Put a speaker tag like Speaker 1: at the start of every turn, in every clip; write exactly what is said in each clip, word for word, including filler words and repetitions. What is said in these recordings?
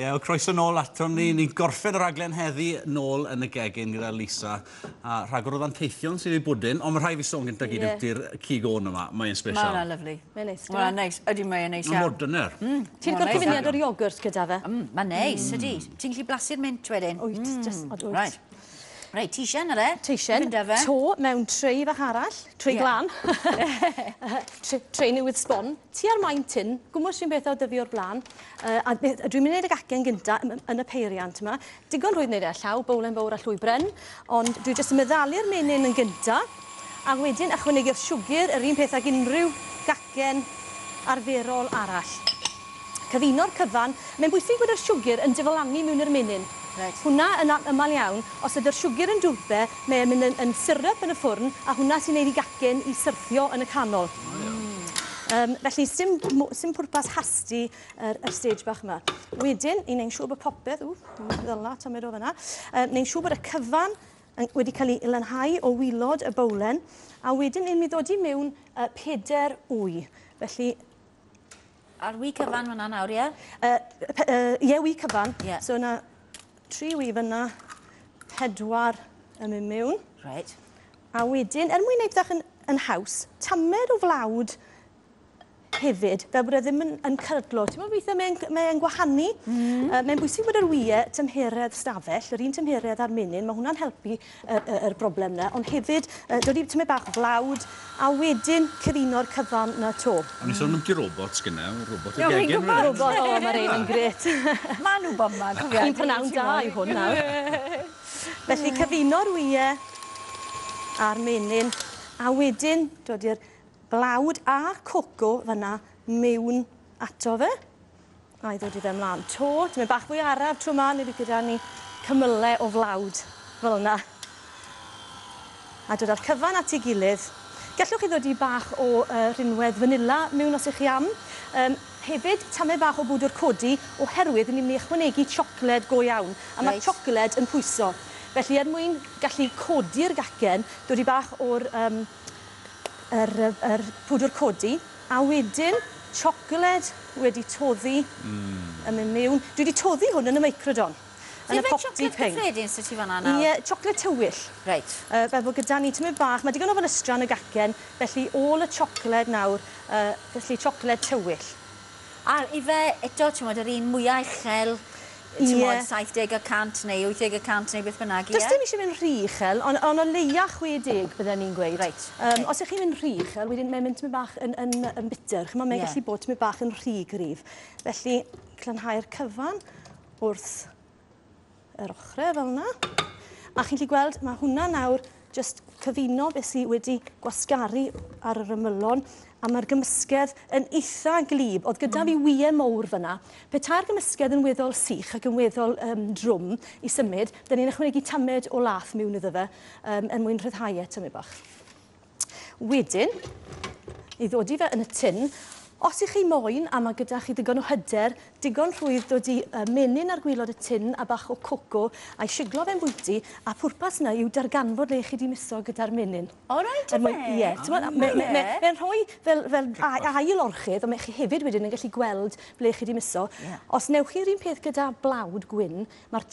Speaker 1: Ie, yeah, croeso nôl aton ni. Ni'n gorffen y raglen heddi nôl yn y gegin gyda Lisa. A rhagor o ddanteithion sydd i bwdin, ond mae rhaid fi sôn gyda gyd
Speaker 2: Ie.
Speaker 1: yw'r cig oen yma. Mae'n
Speaker 3: Mae
Speaker 1: special.
Speaker 3: hwnna'n lyfli.
Speaker 2: Mae'n neis.
Speaker 3: Mae hwnna'n neis. Ydy, mae'n neis
Speaker 1: Mae'n
Speaker 3: iawn.
Speaker 1: mor dyner.
Speaker 2: Ti'n
Speaker 3: Mae'n
Speaker 2: gweld
Speaker 3: neis
Speaker 2: cyfuniad
Speaker 3: iawn.
Speaker 2: o'r iogwrt gyda fe?
Speaker 3: Mm, Mae'n neis, ydy. Ti'n gallu blasu'r mint wedyn?
Speaker 2: Wyt, just, od wyt.
Speaker 3: Right. Reit, teisen ar e.
Speaker 2: Teisen,
Speaker 3: Fynd â fe.
Speaker 2: to mewn tray fach arall, tray
Speaker 3: Ie.
Speaker 2: glân. Tray, tray newydd sbon. Ti ar maint tin, gwmws sy'n beth o dyfu o'r blaen. Uh, a beth- a dwi'n mynd i wneud y gacen gynta yn, yn y peiriant yma. Digon rhwydd wneud e llaw, bowlen fawr a llwy bren. Ond dwi jyst yn meddalu'r menyn yn gynta. A wedyn ychwanegu'r siwgr, yr un peth ag unrhyw gacen arferol arall. Cyfuno'r cyfan. Mae'n bwysig bod yr siwgr yn diflannu mewn i'r menyn.
Speaker 3: Reit.
Speaker 2: Hwna yn aml iawn, os ydy'r siwgr yn dwrbe, mae'n mynd yn, yn syrup yn y ffwrn, a hwnna sy'n neud i gacen i syrthio yn y canol. Um, felly, sim, mo- sim pwrpas hasty yr, yr stage bach yma. Wedyn, i wneud siŵr bod popeth, ww, ddyla, tamed o fyna, um, wneud siŵr bod y cyfan yn, wedi cael ei lanhau o waelod y bowlen, a wedyn ni'n mynd i ddod i mewn uh, peder wy. Felly,
Speaker 3: A'r wy cyfan fyna nawr, ie?
Speaker 2: Uh, uh, ie, wy cyfan.
Speaker 3: Ie.
Speaker 2: So yna tri wy fyna, pedwar yn mynd mewn.
Speaker 3: Reit.
Speaker 2: A wedyn, er mwyn gwneud bach yn, yn haws, tamed o flawd hefyd, fel bod e ddim yn, yn cydlo. Ti'n meddwl weithiau mae'n mae gwahanu? Mm. Uh, mae'n bwysig bod yr wyau tymheredd stafell, yr un tymheredd a'r menyn, mae hwnna'n helpu yr, yr, yr broblem yna. Ond hefyd, uh, dod i tymed bach o flawd, a wedyn cyfuno'r cyfan na to.
Speaker 1: O'n i sôn am di robots gyna, robot y
Speaker 3: Ie, fi'n
Speaker 1: gegin.
Speaker 3: gwbod.
Speaker 1: rili.
Speaker 2: Robot, o, mae'r ein yn gret.
Speaker 3: Ma' nhw bomba, cofia.
Speaker 2: Un prynawn da i hwn nawr. Felly cyfuno'r wyau a'r menyn, a wedyn dod i'r blawd a coco fyna mewn ato fe. A i ddod i fe ymlaen. To, dwi'n bach fwy araf tro 'ma, neu bydd gyda ni cymylau o flawd fel yna. A dod â'r cyfan at ei gilydd. Gallwch chi ddod i bach o uh, rinwedd vanilla mewn os ych chi am. Um, hefyd, tamed bach o bwdwr codi oherwydd ni'n mynd i ychwanegu siocled go iawn. A mae
Speaker 3: Reit.
Speaker 2: siocled yn pwyso. Felly, er mwyn gallu codi'r gacen, dod i bach o'r um, yr, yr pwdwr codi, a wedyn siocled wedi toddi mm. yn mynd mewn. Dwi wedi toddi hwn yn y microdon. Yn y
Speaker 3: Ti'n
Speaker 2: popty
Speaker 3: siocled
Speaker 2: ping.
Speaker 3: cyffredin sydd ti fan'na nawr?
Speaker 2: Ie, siocled tywyll.
Speaker 3: Reit.
Speaker 2: Uh, fel bod gyda ni tymed bach, mae digon o felystra yn y gacen, felly ôl y siocled nawr, uh, felly siocled tywyll.
Speaker 3: A ife eto, ti'n modd, yr un mwyaf uchel, ti'n
Speaker 2: Ie.
Speaker 3: modd, saith deg y cant neu wyth deg y cant neu beth bynnag, ie?
Speaker 2: Does dim eisiau mynd rhy uchel, ond on o leia chwe deg bydden ni'n gweud.
Speaker 3: Reit,
Speaker 2: Um,
Speaker 3: ocê.
Speaker 2: Os ych chi'n mynd rhy uchel, wedyn mae'n mynd tymed bach yn, yn, yn bitter. Chimod, mae'n
Speaker 3: Ie.
Speaker 2: gallu bod tymed bach yn rhy gryf. Felly, glanhau'r cyfan wrth yr ochrau fel yna. A chi'n gallu gweld, mae hwnna nawr just cyfuno beth sydd wedi gwasgaru ar yr ymylon, a mae'r gymysgedd yn eitha glib. Oedd gyda fi wyau mowr fyna. Petai'r gymysgedd yn weddol sych ac yn weddol um, drwm i symud, dyn ni'n ychwanegu tamed o lath mewn iddo fe um, er mwyn rhyddhau e tymed bach. Wedyn, i ddod i fe yn y tin, os ych chi moyn, a mae gyda chi digon o hyder, digon rhwydd dod i uh, menyn ar gwaelod y tin a bach o coco, a'i siglo fe'n bwyty, a pwrpas yna yw darganfod le chi di miso gyda'r menyn.
Speaker 3: O, reit,
Speaker 2: Er mwyn-
Speaker 3: ife?
Speaker 2: Ie, t'mod, me- me- me-
Speaker 3: Ie.
Speaker 2: mae'n rhoi fel, fel a- ail orchudd, ond mae chi hefyd wedyn yn gallu gweld ble chi di miso.
Speaker 3: Ie.
Speaker 2: Os newch chi'r un peth gyda blawd gwyn, mae'r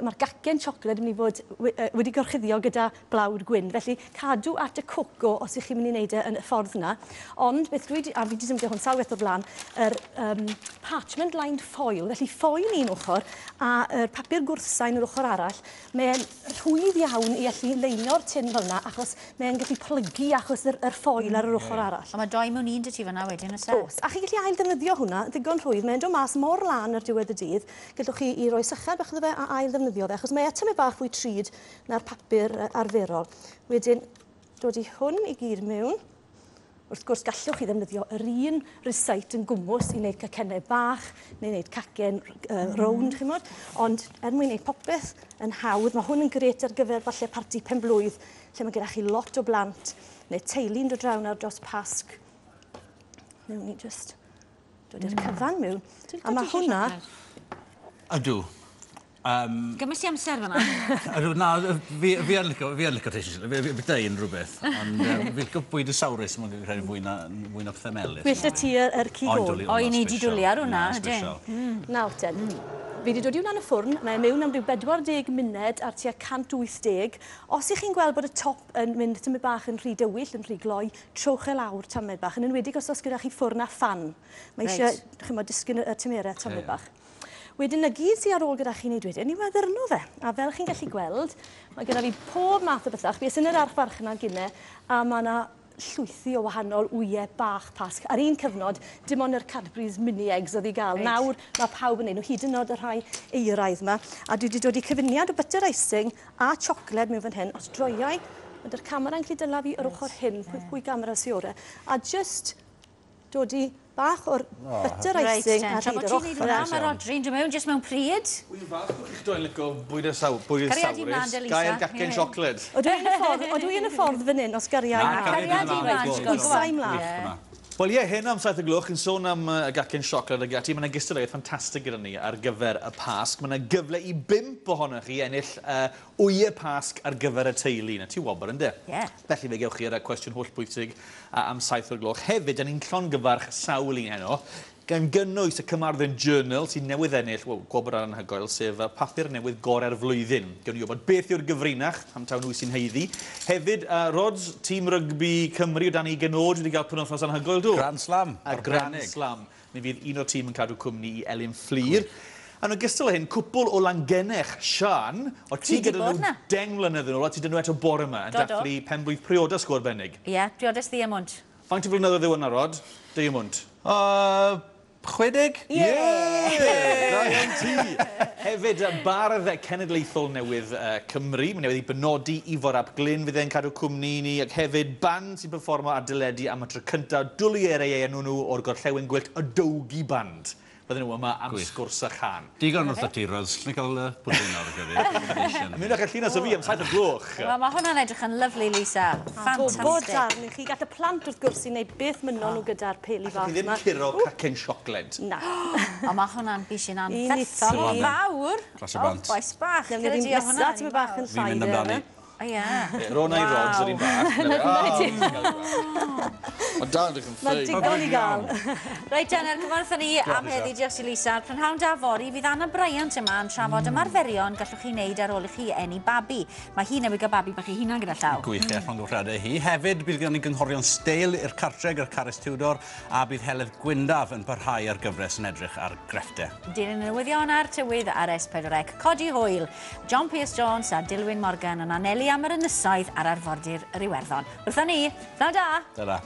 Speaker 2: mae'r gacen siocled yn mynd i fod we- yy, wedi gorchuddio gyda blawd gwyn. Felly cadw at y coco os ych chi'n mynd i wneud e yn y ffordd yna. Ond beth dwi 'di, a fi wedi defnyddio hwn sawl waith o'r blaen, yr um, parchment lined foil, felly foil un ochr a yr papur gwrthsain yr ochr arall, mae'n rhwydd iawn i allu leinio'r tin fel yna achos mae'n gallu plygu achos yr, yr foil ar yr ochr arall.
Speaker 3: A mae doi mewn un dy ti fan'na wedyn, oes e?
Speaker 2: Oes, a chi'n gallu ail ddefnyddio hwnna, ddigon rhwydd. Mae'n dod mas mor lan ar diwedd y dydd. Gallwch chi i roi sychad bach iddo fe a ail ddefnyddio fe, achos mae e tymed bach fwy trud na'r papur yy, arferol. Wedyn, dod i hwn i gyd mewn. Wrth gwrs, gallwch chi ddefnyddio yr un rysait yn gwmws i wneud cacennau bach neu wneud cacen uh, rownd, mm. chimod. Ond er mwyn wneud popeth yn hawdd, mae hwn yn gret ar gyfer falle parti penblwydd, lle mae gyda chi lot o blant neu teulu'n dod draw nawr dros Pasg. Newn ni just dod i'r cyfan mewn. A mae hwnna,
Speaker 1: Ydw. Um,
Speaker 3: Gymryd ti amser fan'na?
Speaker 1: Ydw, na, fi, fi yn licio, fi yn licio teisio, fi, fi byta unrhyw beth, ond um, fi licio bwyd y sawrus, mae'n credu fwy na, fwy na pethau melys.
Speaker 2: Well y ti yr, yr cig
Speaker 1: Ond
Speaker 2: ôl.
Speaker 1: dwli,
Speaker 3: O, i ni
Speaker 1: hwnna'n
Speaker 3: 'di
Speaker 1: special.
Speaker 3: dwli ar hwnna,
Speaker 1: Hwnna'n
Speaker 3: ydyn.
Speaker 1: special.
Speaker 2: Nawr ten. Fi wedi dod i hwnna yn y ffwrn, mae e mewn am ryw bedwar deg munud ar tua cant wyth deg. Os ych chi'n gweld bod y top yn mynd tymed bach yn rhy dywyll, yn rhy gloi, trowch e lawr tamed bach, yn enwedig os oes gyda chi ffwrn a ffan. Mae eisiau, chimod, disgyn y tymerau tamed bach. Wedyn, na gyd sydd ar ôl gyda chi'n neud wedyn, yw addurno fe. A fel chi'n gallu gweld, mae gyda fi pob math o bethau. Fi yn yr archfarchnad gynne, a mae yna llwythi o wahanol wyau bach Pasg. Ar un cyfnod, dim ond yr Cadbury's mini eggs oedd i gael. Reit. Nawr mae pawb yn neud nhw, hyd yn oed y rhai euraidd yma. A dwi wedi dod i cyfuniad o butter icing a siocled mewn fan hyn. Os droiau, ydy'r camera'n gallu dyla fi yr ochr hyn, pwy, pwy gamera sy ore. A just dod i bach o'r butter icing ar hyd yr ochr.
Speaker 3: Tra bod ti'n neud hwnna, mae Rodri'n dod mewn jyst mewn pryd.
Speaker 4: Wy'n falch bod chi'ch dwy'n licio bwyd y saw, bwyd y sawrus. Gair gacen siocled.
Speaker 2: Odw i yn y ffordd, odw i yn y ffordd fan hyn, os gariau
Speaker 1: mlaen.
Speaker 3: Cariad i mlaen.
Speaker 2: Pwysau mlaen.
Speaker 4: Wel ie, heno am saith o gloch yn sôn am y gacen siocled ag ati, mae yna gystadleuaeth ffantastig gyda ni ar gyfer y Pasg. Mae yna gyfle i bump ohonoch chi ennill uh, wyau Pasg ar gyfer y teulu. Na ti wobr, ynddo?
Speaker 3: Ie. Yeah.
Speaker 4: Felly fe gewch chi ar y cwestiwn hollbwysig am saith o'r gloch. Hefyd, da ni'n llongyfarch sawl un heno, gan gynnwys y Carmarthen Journal sy'n newydd ennill, wel, gwobr anhygoel, sef papur newydd gorau'r flwyddyn. Gewn ni wybod beth yw'r gyfrinach, am taw nhw sy'n haeddu. Hefyd, uh, Rods, tîm rygbi Cymru o dan ugain oed wedi cael penwythnos anhygoel, do?
Speaker 1: Grand Slam.
Speaker 4: A Grand Slam. Mi fydd un o'r tîm yn cadw cwmni i Elin Fflur. Yn ogystal â hyn, cwpl o Langennech, Sian, o ti gyda nhw deng mlynedd yn ôl, a ti dyn nhw eto bore yma, yn dathlu penblwydd priodas go arbennig.
Speaker 3: Ie, priodas Ddiemwnt.
Speaker 4: Faint o flynyddoedd yw yna, Rod? Ddiemwnt?
Speaker 1: Uh, chwe deg?
Speaker 4: Ie! Da iawn ti! Hefyd, bardd cenedlaethol newydd uh, Cymru, mae newydd i benodi Ifor ap Glyn, fydd e'n cadw cwmni ni, ac hefyd band sy'n performo ar deledu am y tro cyntaf, dwlu ei enw nhw o'r Gorllewin Gwyllt, y Dowgi Band. Bydden nhw yma am
Speaker 1: Gwych.
Speaker 4: sgwrs a chan.
Speaker 1: Digon wrth y ti, Rods. Ni'n cael uh, pwdin nawr gyda.
Speaker 4: Mynd â'ch llinas o fi am saith o gloch.
Speaker 3: Wel, mae hwnna'n edrych yn lyfli, Lisa.
Speaker 2: Bod
Speaker 3: Ffantastig.
Speaker 2: darn i chi. Gall y plant wrth gwrs i wneud beth mynnon nhw gyda'r peli fach
Speaker 4: Chi ddim
Speaker 2: yma.
Speaker 4: curo cacen siocled.
Speaker 2: Na.
Speaker 3: O, mae hwnna'n bishyn
Speaker 2: Un i
Speaker 3: anferthol o
Speaker 2: ti.
Speaker 3: fawr.
Speaker 1: Glas o bant.
Speaker 3: O, boes bach.
Speaker 2: Newn ni
Speaker 3: Gyda
Speaker 2: ddim
Speaker 3: ti o hwnna,
Speaker 2: nesa, ti'n bach yn
Speaker 1: Fi'n
Speaker 2: llai.
Speaker 1: mynd amdani.
Speaker 3: O, ie.
Speaker 4: Rona i Rods yr un bach.
Speaker 5: Mae dal yn edrych yn
Speaker 2: Mae
Speaker 5: ffein.
Speaker 2: digon i gael.
Speaker 3: Reit, Jenner, cyfarth ni am heddi, diolch i Lisa. Prynhawn da fory, fydd Anna Bryant yma yn trafod ymarferion gallwch chi wneud ar ôl i chi eni babi. Mae hi newydd gael babi bach ei hunan gyda llaw.
Speaker 1: Gwych, e, llongyfarchiadau hi. Hefyd, bydd gen ni gynghorion steil i'r cartre gyda'r Carys Tudor, a bydd Heledd Gwyndaf yn parhau ar gyfres yn edrych ar grefftau.
Speaker 3: Dilyn y newyddion a'r tywydd ar S pedwar C. Codi hwyl. John Pierce Jones a Dilwyn Morgan yn anelu am yr ynysoedd ar arfordir yr Iwerddon. Wrthon ni, pnawn da!
Speaker 1: Ta-ra.